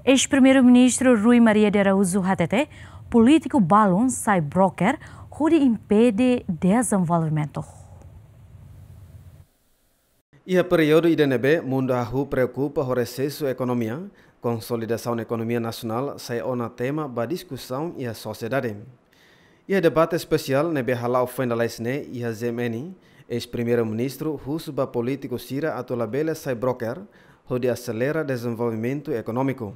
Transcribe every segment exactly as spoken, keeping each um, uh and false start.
Eis-Primeiru-Ministru Rui Maria de Araújo hatete, polítiku balun sai broker hodi impede dezenvolvimentu. Iha períodu ida ne'ebé mundu hahú preokupa ho resesu ekonomia, konsolidasaun ekonomia nasionál sai ona tema ba diskusaun iha sosiedade. Iha debate espesiál ne'ebé hala'o foin lalais ne'e iha G M N, eis-Primeiru-Ministru husu ba polítiku sira atu labele sai broker, hodi aselera dezenvolvimentu ekonómiku.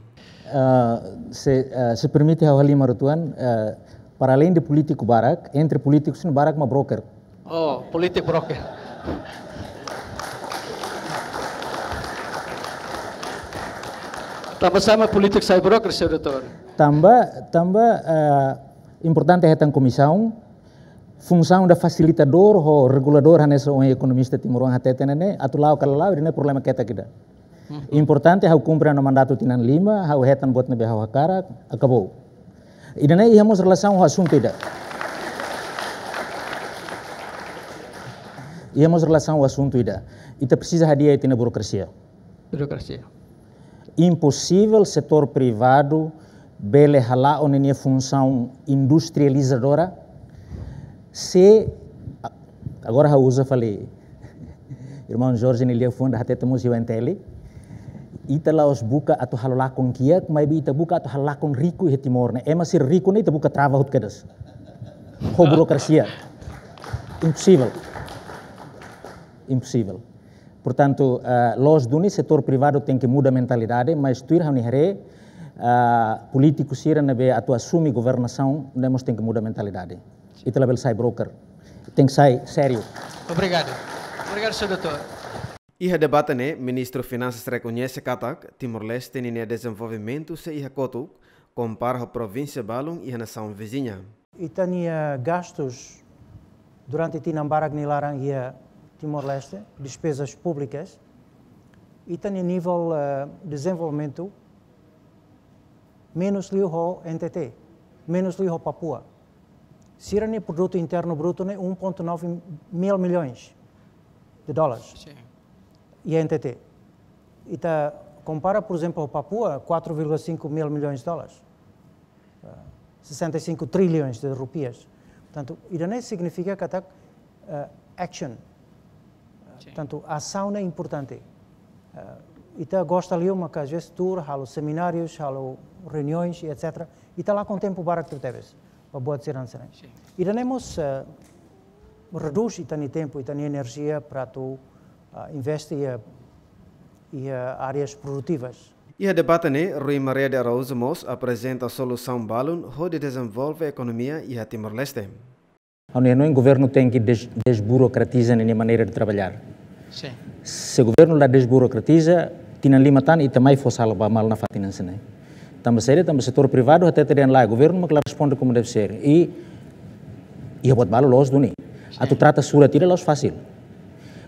Ah, se, ah, se permite ha'u halimar uitoan, ah, para além de polítiku barak, entre polítikus ne'e barak mak broker. Oh, polítiku broker. Tanba sá mak polítiku sai broker, señór doutór? Tanba, tanba, ah, importante hetan komisaun, funsaun ida fasilitadór ho reguladór hanesan ohin ekonomista timoroan hateten ne'e, atu la'o ka la la'o, ida-ne'e problema ketak ida. Importante ha'u kumpre ha'u-nia mandatu tinan lima, ha'u hetan buat ne'ebé ha'u hakarak, akabou. Ida-ne'e iha mós relasaun ho asuntu ida. Iha mós relasaun ho asuntu ida. Ita presiza hadi'a ita-nia burokrasia. Burokrasia. Imposivel setór privadu bele hala'o ninia funsaun industrializadora se, a-, agora ha'u uza fali irmaun Jorge nia liafuan ida hateten mós iha U N T L. Ita la'ós buka atu halo lakon kiak, maibé ita buka atu halo lakon riku iha Timor ne'e. Ema sira riku ne'e ita buka trava hotu kedas. Ho burokrasia. Imposivel. Imposivel. Portantu, ah, loos duni setór privadu tenke muda mentalidade, mas tuir ha'u-nia haree, ah, polítiku sira ne'ebé atu asume governasaun, ne'e mós tenke muda mentalidade. Ita labele sai broker. Tenke sai sériu. Obrigadu. Obrigadu, señór doutór. Iha debate ne'e, Ministru Finansas rekoñese katak Timor-Leste ninia dezenvolvimentu sei iha kotuk, kompara ho provínsia balun iha nasaun viziña. Ita-nia gastus durante tinan barak nia laran iha Timor-Leste, despezas públikas, ita-nia nivel, eh, dezenvolvimentu menus liu ho N T T, menus liu ho Papua. Sira-nia produtu internu brutu ne'e um ponto nove mil milhões de dólares. Sin. Iha N T T. Ita kompara, por exemplo, ho Papua, quatro vírgula cinco mil milhões de dólares. Ah, sessenta e cinco trilhões de rupias. Portantu, ida-ne'e signifika katak, eh, action. Sin. Portantu, asaun ne'e importante. Eh, ita gosta liu maka às vezes tuur, halo seminárius, halo reuniões, etcétera. Ita lakon tempu barak tebetebes ba buat sira-ne'e. Sin. Ida-ne'e mós, eh, redús ita-nia tempu, ita-nia enerjia para atu, ah, investe iha, iha áreas produtivas. Iha debate ne'e, Rui Maria de Araújo mós aprezenta solusaun balun hodi dezenvolve ekonomia iha Timor-Leste. Ha'u-nia hanoin governu tenke des-, desburokratiza ninia maneira de trabalhar. Sin. Se governu la desburokratiza, tinan lima tan ita mai fó sala ba malu nafatin hanesan ne'e. Tanba saida, tanba setór privadu hatete dehan lae, governu mak la responde como deve ser. I, iha buat balu loos duni. Sin. Atu trata surat ida la'ós fasil.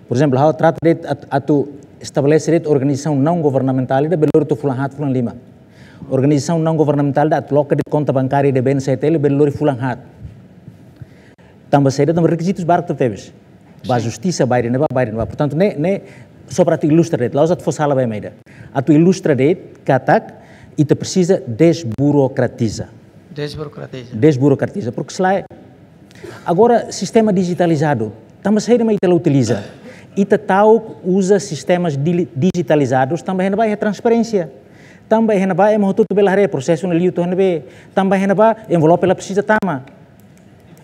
Por ezemplu, ha'u trata de'it at-, atu estabelese de'it organizasaun naun governamentál ida bele lori to'o fulan haat, fulan lima. Organizasaun naun governamentál ida atu loka de'it konta bankária ida B N C T L bele lori fulan haat. Tanba saida, tanba rekizitus barak tebetebes. Ba, sin, justisa, ba ida-ne'ebá, ba ida-ne'ebá. Portantu, ne'e, ne'e só para atu ilustra de'it, la'ós atu fó sala ba ema ida. Atu ilustra de'it katak ita presiza desburokratiza. Desburokratiza. Desburokratiza, porque se lae, agora sistema dijitalizadu, tanba saida mak ita la utiliza? Ita ta'uk uza sistemas dili-, dijitalizadus, tanba iha ne'ebá iha transparénsia. Tanba iha ne'ebá ema hotu-hotu bele haree prosesu ne'e liu to'o iha ne'ebé. Tanba iha ne'ebá envelope la presiza tama.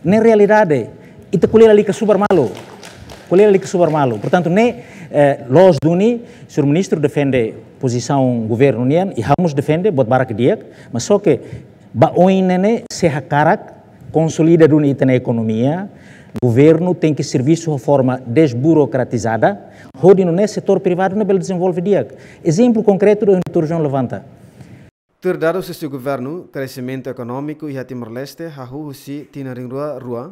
Ne'e realidade. Ita ko'alia lalika subar malu. Ko'alia lalika subar malu. Portantu, ne'e, eh, loos duni, señór ministru defende pozisaun governu nian, i ha'u mós defende, buat barak di'ak, mas só ke ba oin ne'e ne'e, se hakarak konsolida duni ita-nia ekonomia, governu tenke servisu ho forma desburokratizada, hodi nune'e setór privadu ne'e bele dezenvolve di'ak. Ezemplu konkretu ida ohin doutór João levanta. Tuir dadus husi governu, kresimentu ekonómiku iha Timor-Leste hahú husi tinan rihun rua rua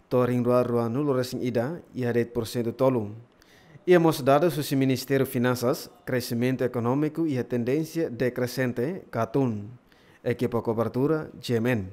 to'o rihun rua ruanulu resin ida iha de'it porsentu tolu. Iha mós dadus husi Ministériu Finansas, kresimentu ekonómiku iha tendénsia dekresente ka tun. Ekipa kobertura, G M N.